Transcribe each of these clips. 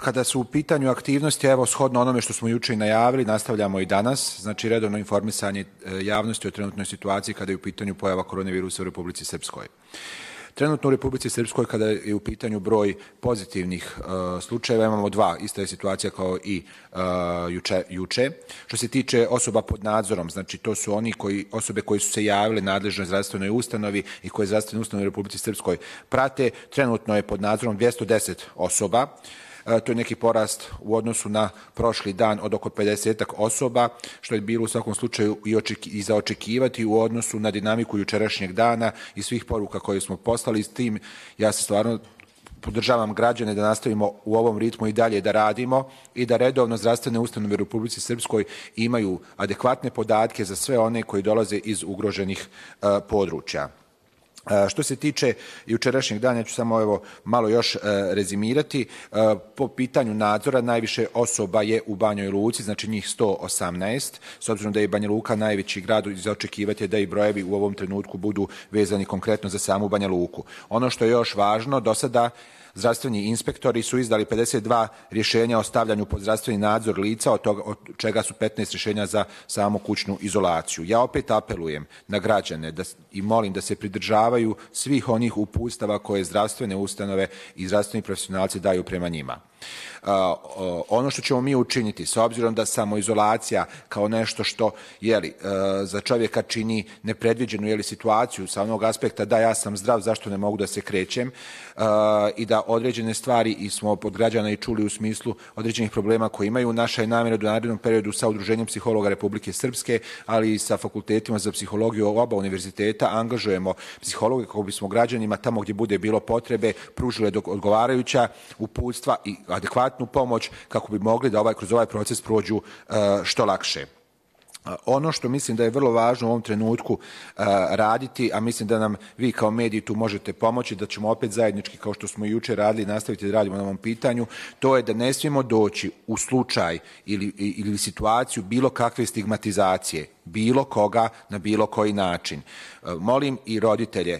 Kada su u pitanju aktivnosti, evo, shodno onome što smo juče i najavili, nastavljamo i danas, znači redovno informisanje javnosti o trenutnoj situaciji kada je u pitanju pojava koronavirusa u Republici Srpskoj. Trenutno u Republici Srpskoj, kada je u pitanju broj pozitivnih slučajeva, imamo dva, ista je situacija kao i juče. Što se tiče osoba pod nadzorom, znači to su osobe koji su se javile nadležnoj zdravstvenoj ustanovi i koje zdravstvene ustanove u Republici Srpskoj prate, trenutno je pod nadzorom 210 osoba. To je neki porast u odnosu na prošli dan od oko 50 osoba, što je bilo u svakom slučaju i za očekivati u odnosu na dinamiku jučerašnjeg dana i svih poruka koje smo poslali. S tim ja se stvarno podržavam građane da nastavimo u ovom ritmu i dalje da radimo i da redovno zdravstvene ustanove u Republici Srpskoj imaju adekvatne podatke za sve one koji dolaze iz ugroženih područja. Što se tiče jučerašnjeg dana, ja ću samo malo još rezimirati. Po pitanju nadzora najviše osoba je u Banjoj Luci, znači njih 118. S obzirom da je Banja Luka najveći grad, za očekivati je da i brojevi u ovom trenutku budu vezani konkretno za samu Banja Luku. Ono što je još važno, do sada zdravstveni inspektori su izdali 52 rješenja o stavljanju pod zdravstveni nadzor lica, od čega su 15 rješenja za samu kućnu izolaciju. Ja opet apelujem na građane i molim da se pridržavaju svih onih uputstava koje zdravstvene ustanove i zdravstveni profesionalci daju prema njima. Ono što ćemo mi učiniti, s obzirom da samoizolacija kao nešto što za čovjeka čini nepredviđenu situaciju sa onog aspekta da ja sam zdrav, zašto ne mogu da se krećem, i da određene stvari i smo od građana i čuli u smislu određenih problema koje imaju. Naša je namjera da u narednom periodu sa Udruženjem psihologa Republike Srpske, ali i sa fakultetima za psihologiju oba univerziteta angažujemo psihologe kako bismo građanima tamo gdje bude bilo potrebe pružili odgovarajuća uputstva i adekvatnu pomoć kako bi mogli da kroz ovaj proces prođu što lakše. Ono što mislim da je vrlo važno u ovom trenutku raditi, a mislim da nam vi kao mediji tu možete pomoći, da ćemo opet zajednički, kao što smo i juče radili, nastaviti da radimo na ovom pitanju, to je da ne smijemo doći u slučaj ili situaciju bilo kakve stigmatizacije, bilo koga na bilo koji način. Molim i roditelje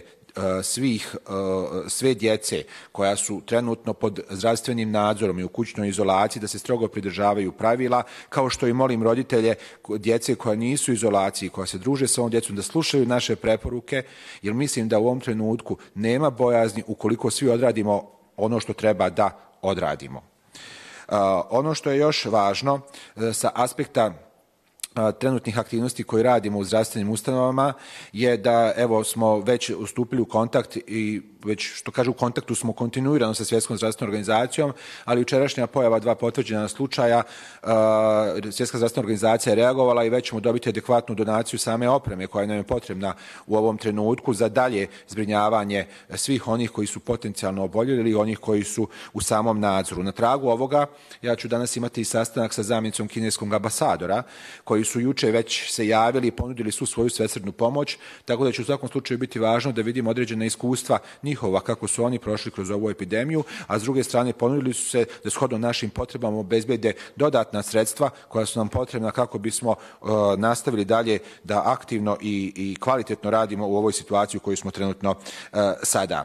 sve djece koja su trenutno pod zdravstvenim nadzorom i u kućnoj izolaciji da se strogo pridržavaju pravila, kao što i molim roditelje djece koja nisu u izolaciji, koja se druže sa ovom djecom, da slušaju naše preporuke, jer mislim da u ovom trenutku nema bojazni ukoliko svi odradimo ono što treba da odradimo. Ono što je još važno sa aspekta trenutnih aktivnosti koje radimo u zdravstvenim ustanovama je da smo već ustupili u kontakt i već što kažu u kontaktu smo kontinuirano sa Svjetskom zdravstvenom organizacijom, ali jučerašnja pojava 2 potvrđena slučaja, Svjetska zdravstvena organizacija je reagovala i već ćemo dobiti adekvatnu donaciju same opreme koja nam je potrebna u ovom trenutku za dalje zbrinjavanje svih onih koji su potencijalno oboljeli ili onih koji su u samom nadzoru. Na tragu ovoga ja ću danas imati i sastanak sa zamjenicom kineskog ambasadora koji su juče već se javili i ponudili svu svoju svesrdnu pomoć, tako da će u svakom slučaju biti važno da vidimo određena iskustva njihova kako su oni prošli kroz ovu epidemiju, a s druge strane ponudili su se da shodno našim potrebama obezbede dodatna sredstva koja su nam potrebna kako bismo nastavili dalje da aktivno i kvalitetno radimo u ovoj situaciji u kojoj smo trenutno sada.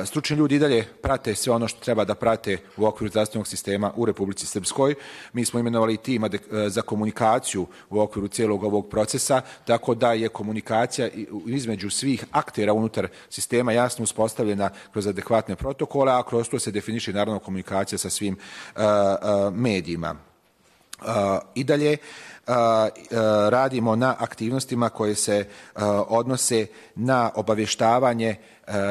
Stručni ljudi i dalje prate sve ono što treba da prate u okviru zdravstvenog sistema u Republici Srpskoj. Mi smo imenovali tim za komunikaciju u okviru cijelog ovog procesa, tako da je komunikacija između svih aktera unutar sistema jasno uspostavljena kroz adekvatne protokole, a kroz to se definiše naravno komunikacija sa svim medijima. I dalje radimo na aktivnostima koje se odnose na obavještavanje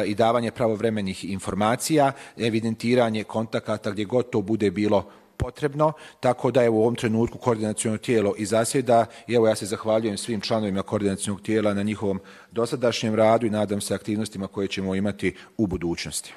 i davanje pravovremenih informacija, evidentiranje kontakata gdje god to bude bilo potrebno, tako da je u ovom trenutku koordinaciono tijelo i zasjeda i ja se zahvaljujem svim članovima koordinacionog tijela na njihovom dosadašnjem radu i nadam se aktivnostima koje ćemo imati u budućnosti.